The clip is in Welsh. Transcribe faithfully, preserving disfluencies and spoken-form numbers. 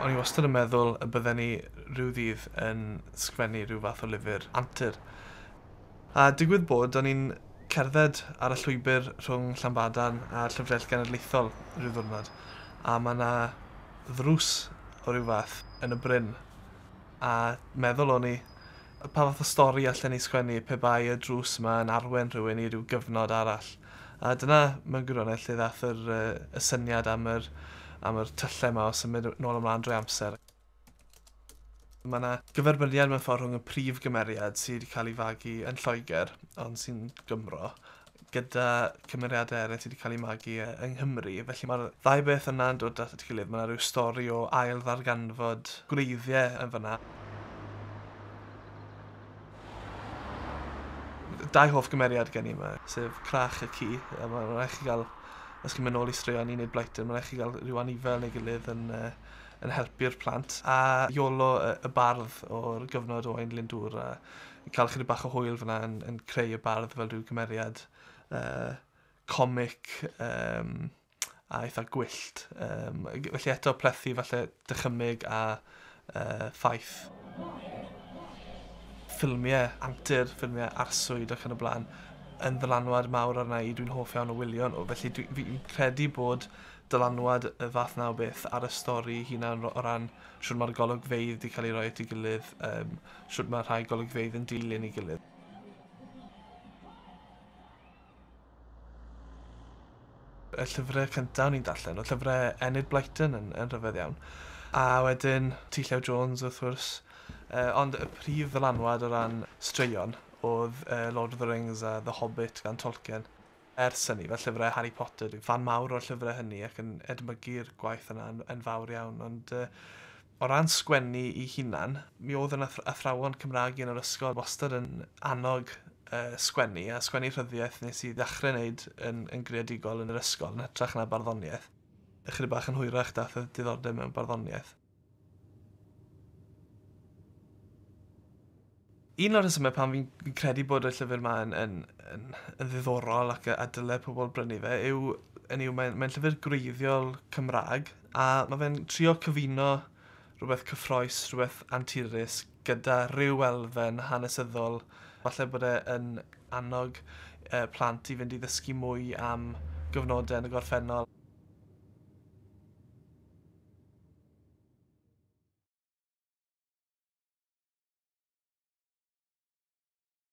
O'n i wastad yn meddwl y bydden ni rhyw ddydd yn sgwennu rhyw fath o lyfr antur. A digwydd bod, o'n i'n cerdded ar y llwybr rhwng Llanbadarn a'r Llyfrgell Genedlaethol rhyw ddiwrnod, a mae yna ddrws o ryw fath yn y bryn. A meddwl o'n i, pa fath o stori allan ni sgwennu pe bai y drws yma yn arwain rhywun i ryw gyfnod arall. A dyna mewn gwirionedd lle ddath yr, y syniad am yr, am yr tyllau yma o symud nôl ymlaen drwy amser. Mae yna gyferbyniad mewn ffordd rhwng y prif gymeriad sydd wedi cael ei fagu yn Lloegr, ond sy'n Gymro, gyda cymeriadau eraill sydd wedi cael ei magu yng Nghymru. Felly mae'r ddau beth yna'n dod at ei gilydd. Mae yna rhyw stori o ail ddarganfod gwreiddiau yn fyna. Dau hoff gymeriad gen i yma, sef Crach y ci. A mae'n rhaid chi gael, os chi'n mynd nôl i straeon Enid Blyton, mae'n rhaid chi gael rhyw anifel neu gilydd yn, uh, yn helpu'r plant. A Iolo y, y bardd o'r gyfnod Owain Glyndŵr, a cael chydig bach o hwyl fyna yn, yn creu y bardd fel rhyw gymeriad uh, comic um, a eitha gwyllt. Um, felly eto plethu falle dychymyg a uh, ffaith. Ffilmiau antur, ffilmiau arswyd ac yn y blaen, yn ddylanwad mawr arna i, dwi'n hoff iawn o wylio nhw. Felly dwi'n credu bod dylanwad y fath na o beth ar y stori hunan o ran shwt mae'r golygfeydd wedi cael ei roi at ei gilydd, um, shwt mae rhai golygfeydd yn dilyn ei gilydd. Y llyfrau cyntaf o'n i'n darllen, oedd llyfrau Enid Blyton yn, yn rhyfedd iawn. A wedyn T Llew Jones wrth gwrs. Uh, ond y prif ddylanwad o ran straeon oedd uh, Lord of the Rings a The Hobbit gan Tolkien. Ers hynny, fel llyfrau Harry Potter, dwi'n fan mawr o'r llyfrau hynny ac yn edmygu'r gwaith yna yn, yn fawr iawn. Ond uh, o ran sgwennu i hunan, mi oedd yn athrawon Cymraeg yn yr ysgol wastad yn annog uh, sgwennu, a sgwennu rhyddiaeth nes i ddechrau wneud yn, yn greadigol yn yr ysgol, yn hytrach na barddoniaeth. Ychydig bach yn hwyrach dath y diddordeb mewn barddoniaeth. Un o'r rhesymau pan fi'n credu bod y llyfr yma yn, yn, yn, yn ddiddorol ac a dyle pobl brynu fe yw, yn yw mae'n mae llyfr gwreiddiol Cymraeg, a mae fe'n trio cyfuno rhywbeth cyffrous, rhywbeth anturus gyda rhyw elfen hanesyddol. Falle bod e yn annog eh, plant i fynd i ddysgu mwy am gyfnodau yn y gorffennol.